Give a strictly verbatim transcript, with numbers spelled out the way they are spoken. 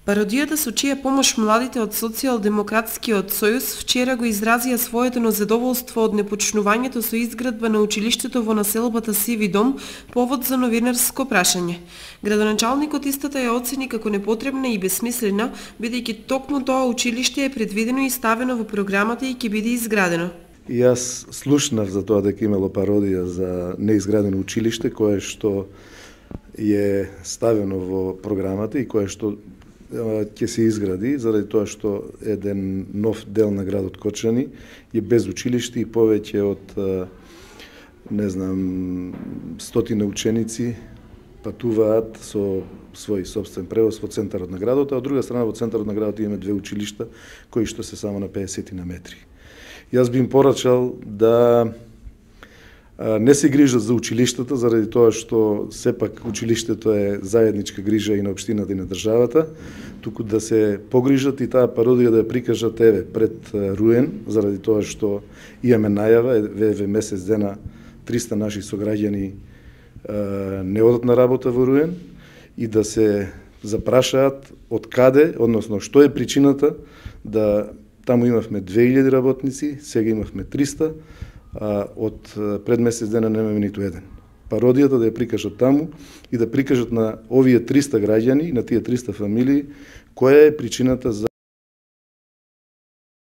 Пародијата со чија помош младите од Социјалдемократскиот сојуз вчера го изразија своето незадоволство од непочнувањето со изградба на училиштето во населбата Сиви дом, повод за новинарско прашање. Градоначалникот истата ја оцени како непотребна и бесмислена, бидејќи токму тоа училиште е предвидено и ставено во програмата и ќе биде изградено. И јас слушнав за тоа дека имало пародија за неизградено училиште, кое што е ставено во програмата и кое што ќе се изгради, заради тоа што еден нов дел на градот Кочани е без училиште и повеќе од, не знам, стотина ученици патуваат со свој собствен превоз во центарот на градот, а од друга страна во центарот на градот имаме две училишта кои што се само на педесет на метри. Јас би им порачал да не се грижат за училиштата, заради тоа што сепак училиштето е заедничка грижа и на општината и на државата, туку да се погрижат и таа пародија да ја прикажат еве пред Руен, заради тоа што имаме најава, еве месец дена триста наши сограѓани не одат на работа во Руен и да се запрашаат од каде, односно што е причината да таму имавме две илјади работници, сега имавме триста, а од пред месец дена немаме ниту еден. Пародијата да ја прикажат таму и да прикажат на овие триста граѓани, на тие триста фамилии, која е причината за